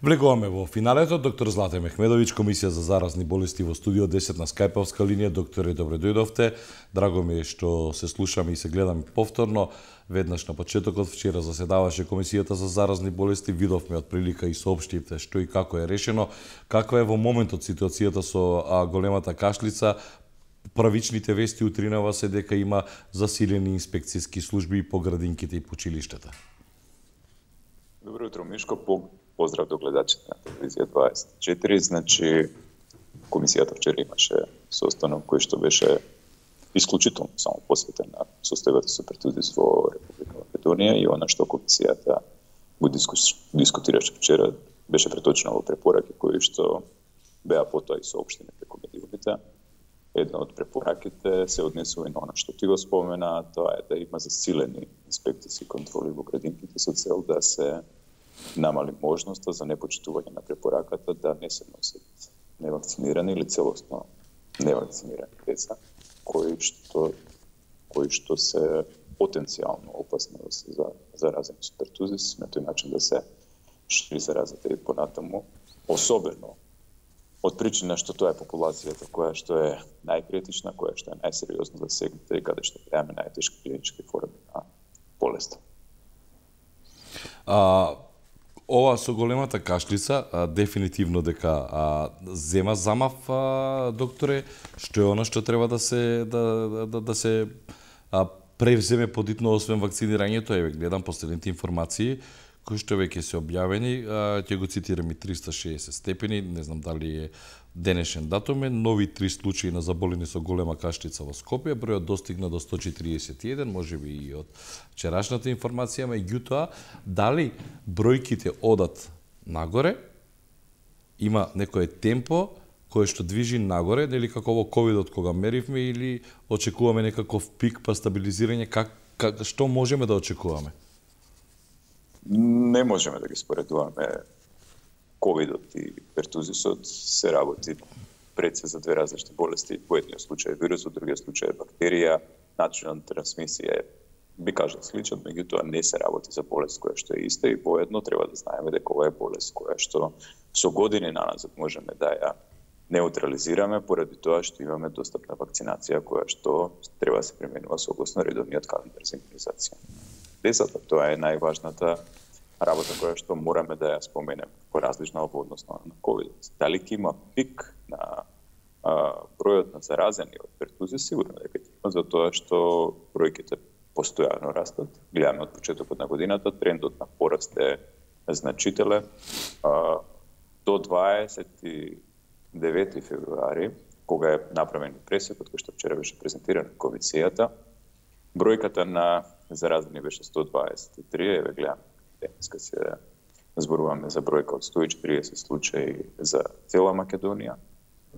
Влегуваме во финалето. Доктор Злате Мехмедовиќ, Комисија за заразни болести во студио 10 на скајповска линија. Докторе, добре дојдовте. Драго ми е што се слушаме и се гледаме повторно. Веднаш на почетокот вчера заседаваше Комисијата за заразни болести. Видовме од прилика и соопштивте што и како е решено. Каква е во моментот ситуацијата со големата кашлица? Правичните вести утринава се дека има засилени инспекцијски служби по градинките и по училиштата. Добро утро, Мишко. Поздрав до гледачите на телевизија 24. Значи, комисијата вчера имаше состанок кој што беше исклучително само посветен на состојбата со претузис во Република Македонија, и она што комисијата го дискутираше вчера беше преточено во препораки кои што беа потоа и соопштени преку медиумите. Една од препораките се однесува и на она што ти го спомена, тоа е да има засилени инспекцијски контроли во градинките со цел да се намали можноста за непочитување на препораката да не се носат невакцинирани или целосно невакцинирани деца кои што се потенцијално опасни да се заразени со пертузис, на тој начин да се шири заразата и понатаму, особено од причина што тоа е популацијата која што е најкритична, која што е најсериозно засегната и каде што гледаме најтешки клинички форми на болеста. Ова со големата кашлица, дефинитивно дека зема замав, докторе, што е она што треба да се превземе подитно освен вакцинирањето. Еве, гледам последните информации кои што веќе се објавени, ќе го цитирам и 360 степени, не знам дали е денешен датум, нови 3 случаи на заболени со голема кашлица во Скопје, бројот достигна до 141, можеби и од вчерашната информација, меѓутоа, дали бројките одат нагоре, има некое темпо кое што движи нагоре, нели како во ковидот кога меривме, или очекуваме некаков пик па стабилизирање, што можеме да очекуваме? Не можеме да ги споредуваме ковидот и пертузисот, се работи пред се за две различни болести. Во едниот случај е вирус, во другиот случај е бактерија. Начинот на трансмисија е, би кажал, сличен, меѓутоа не се работи за болест која што е иста, и воедно треба да знаеме дека ова е болест која што со години наназад можеме да ја неутрализираме поради тоа што имаме достапна вакцинација која што треба да се применува согласно редовниот календар за имунизација. Децата, тоа е најважната работа која што мораме да ја споменеме, поразлична во однос на ковидот. Дали ќе има пик на бројот на заразени од пертузис? Сигурно дека ќе има, затоа што бројките постојано растат. Гледаме од почетокот на годината, трендот на пораст е значителен. До 29 февруари, кога е направен пресекот кој што вчера беше презентиран на комисијата, бројката на заразени беше 123, еве гледам, денеска се зборуваме за бројка од 140 случаи за цела Македонија,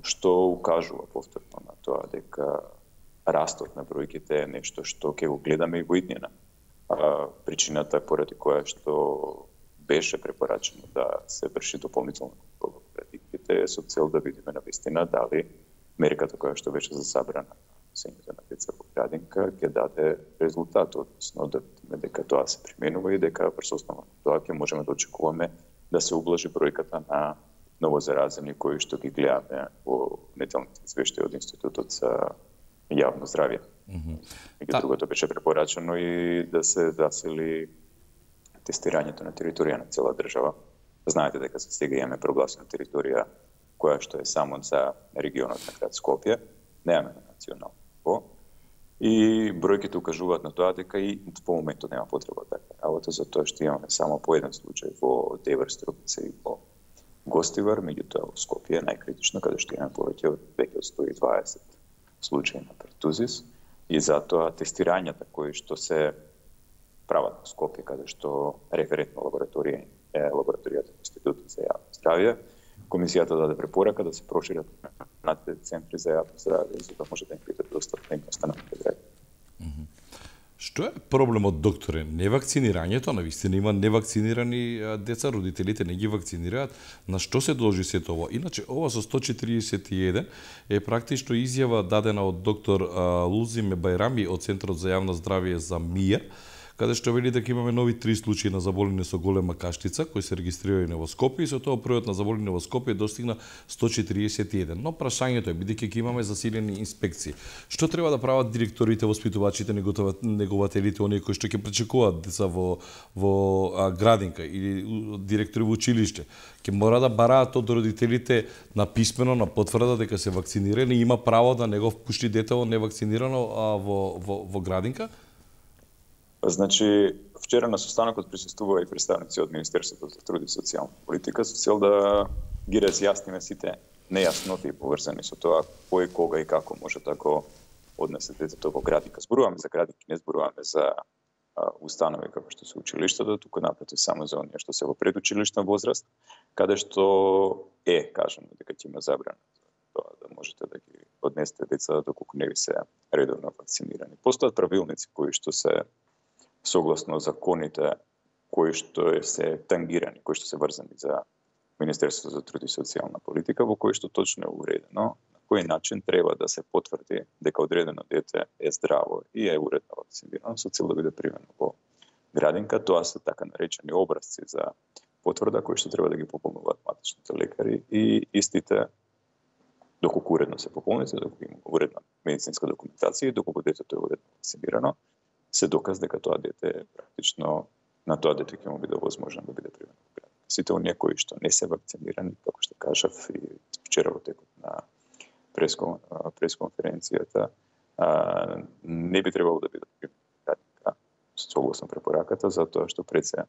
што укажува повторно на тоа дека растот на бројките е нешто што ќе го гледаме и во иднина. Причината поради која што беше препорачено да се врши дополнително контрола во градинките е со цел да видиме навистина дали мерката која што беше засабрана сењето на деца во градинка ќе даде резултат, односно да видиме дека тоа се применува и дека врз основа на тоа ќе можеме да очекуваме да се ублажи бројката на новозаразени кои што ги гледаме во неделните извештаи од Институтот за јавно здравје. Другото беше препорачено и да се засили тестирањето на територија на цела држава. Знаете дека за сега имаме прогласена територија која што е само за регионот на град Скопје, немаме на национално ниво, и бројките укажуваат на тоа дека и во моментот нема потреба да работа, затоа што имаме само по еден случај во Девер, Струпица и во Гостивар, меѓутоа во Скопје е најкритично, каде што имаме повеќе од 120 случаи на пертузис, и затоа тестирањата кои што се прават во Скопје, каде што референтна лабораторија е лабораторијата на Институтот за јавно здравје, комисијата даде препорака да се прошират на центри за јавно здравје, за да може да им биде достапна и на останатите граѓани. Што е проблемот, докторе? Невакцинирањето, навистина има невакцинирани деца, родителите не ги вакцинираат. На што се должи сето ова? Иначе, ова со 141 е практично изјава дадена од доктор Лузиме Бајрами од Центарот за јавно здравје за МИА, каде што вели дека имаме нови 3 случаи на заболени со голема кашлица кои се регистрирани во Скопје и со тоа бројот на заболени во Скопје достигна 141. Но прашањето е, бидејќи ќе имаме засилени инспекции, што треба да прават директорите, воспитувачите, негователите, оние кои што ќе пречекуваат деца во градинка или директори во училиште, ќе мора да бараат од родителите на писмено, на потврда дека се вакцинирани и има право да не го впушти детево невакцинирано во градинка? Значи, вчера на состанокот присуствува и представници од Министерството за труд и социјална политика со цел да ги разјасниме сите нејасноти поврзани со тоа кој, кога и како може тако однесе детето во градинка. Зборуваме за градинки, не зборуваме за установи како што се училиштата, туку напротив само за оние што се во предучилишна возраст, каде што кажано дека ќе има забрана тоа да можете да ги однесете деца доколку не ви се редовно вакцинирани. Постојат правилници кои што се согласно законите кои што се тангирани, кои што се врзани за Министерството за труд и социјална политика, во кои што точно е уредено на кој начин треба да се потврди дека одредено дете е здраво и е уредно вакцинирано со цел да биде примено во градинка. Тоа се така наречени образци за потврда кои што треба да ги пополнуваат матичните лекари и истите доколку уредно се пополните, доколку има уредна медицинска документација и доколку детето е уредно вакцинирано, се доказ дека тоа дете практично на тоа дете ќе му биде возможно да биде примено во градинка. Сите оние кои што не се вакцинирани, како што кажав и вчера во текот на пресконференцијата, не би требало да бидат примени во градинка согласно препораката, затоа што пред се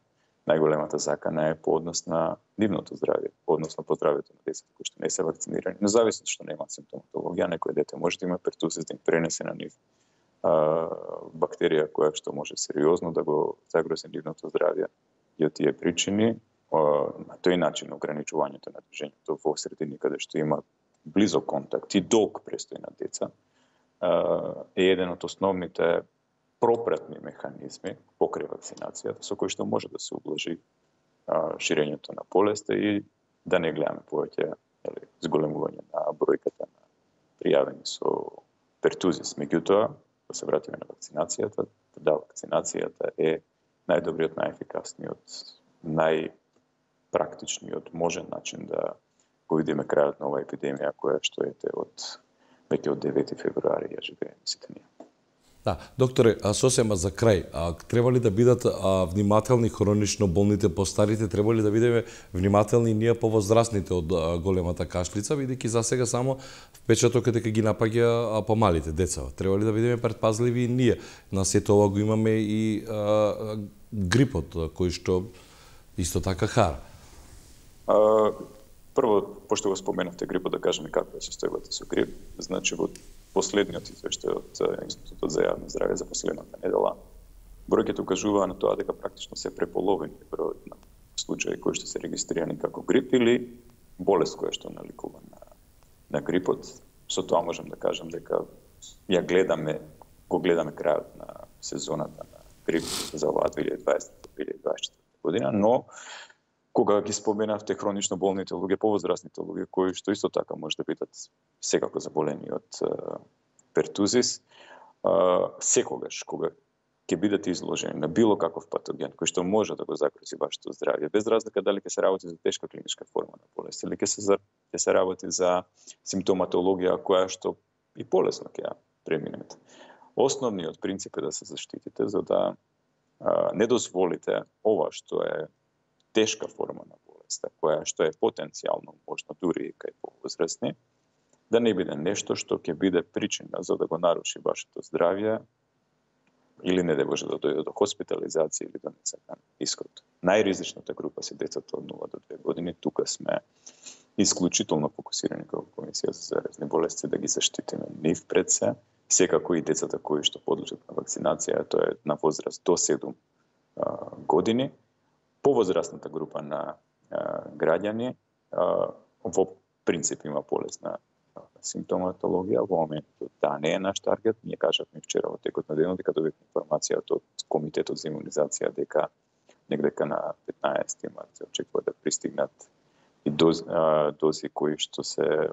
најголемата закана е по однос на нивното здравје, по однос на здравјето на децата кои што не се вакцинирани. Независно што немаат симптоматологија, некој дете може да има пертусис, да им пренесе на нив бактерија која што може сериозно да го загрози нивното здравје и од тие причини на тој начин ограничувањето на движењето во средини каде што има близок контакт и долг престој на деца е еден од основните пропратни механизми покрај вакцинацијата со кои што може да се ублажи ширењето на болеста и да не гледаме повеќе зголемување на бројката на пријавени со пертузис. Меѓутоа, да се вратиме на вакцинацијата, да, вакцинацијата е најдобриот, најефикасниот, најпрактичниот можен начин да го видиме крајот на оваа епидемија која што е веќе од 9 февруари ја живееме сите ние. Да, докторе, сосема за крај, треба ли да бидат внимателни хронично болните, постарите, треба ли да бидеме внимателни ние повозрастните од големата кашлица, бидејќи за сега само впечатокот дека ги напаѓа помалите деца. Треба ли да бидеме предпазливи ние? На сето ова го имаме и грипот, кој што исто така хара. Прво, пошто го споменавте грипот, да кажеме каква е состојбата со грип. Значи, во последниот извештај од Институтот за јавно здравје за последната недела, бројките укажуваа на тоа дека практично се преполовени бројот на случаи кои што се регистрирани како грип или болест која што наликува на грипот. Со тоа можам да кажам дека го гледаме крајот на сезоната на грип за оваа 2020-2024 година, но кога ги споменавте хронично болните луѓе, повозрастните луѓе, кои што исто така може да бидат секако заболени од пертузис, секогаш кога ќе бидете изложени на било каков патоген кој што може да го загрози вашето здравје, без разлика дали ќе се работи за тешка клиничка форма на болест или ќе се работи за симптоматологија која што и полесно ќе ја преминете. Основниот принцип е да се заштитите за да не дозволите ова што е тешка форма на болеста, која што е потенцијално можно дури и кај повозрастни, да не биде нешто што ќе биде причина за да го наруши вашето здравје или не да може да дојде до хоспитализација или до несакан исход. Најризичната група се децата од 0 до 2 години. Тука сме исклучително фокусирани како Комисија за заразни болести да ги заштитиме нив пред се, секако и децата кои што подлежат на вакцинација, тоа е на возраст до 7 години. Повозрастната група на граѓани во принцип има полесна симптоматологија. Во моментот не е наш таргет. Ние кажавме вчера во текот на денот дека добивме информација од Комитетот за имунизација дека негде на 15 март се очекува да пристигнат и дози кои што се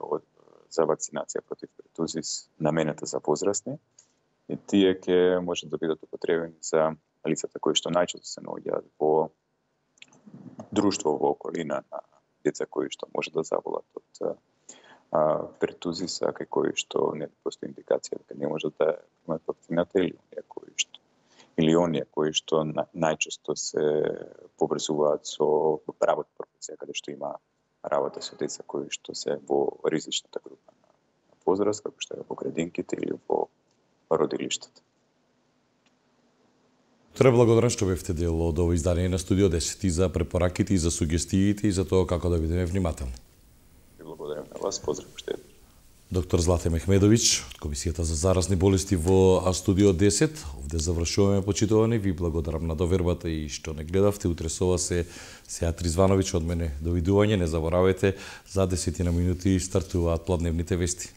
за вакцинација против пертузис наменета за возрастни. И тие ќе може да бидат употребени за лицата кои што најчесто се наоѓаат во друштво, во околина на деца кои што може да заболат од пертузиса, кај кои што не постои индикација дека не може да имаат вакцината, или оние кои што најчесто се поврзуваат со работа професија, каде што има работа со деца кои што се во ризичната група на возраст, како што е во градинките или во родилиштата. Благодарам што бевте дел од ово издание на Студио 10 и за препораките и за сугестиите и за тоа како да бидеме внимателни. Благодарам на вас, поздрав уште еднаш. Доктор Злате Мехмедович од Комисијата за заразни болести во Студио 10. Овде завршуваме, почитувани. Ви благодарам на довербата и што не гледавте. Утре со вас е Сеат Ризвановиќ од мене. Довидување. Не заборавајте, за 10 минути стартуваат плодневните вести.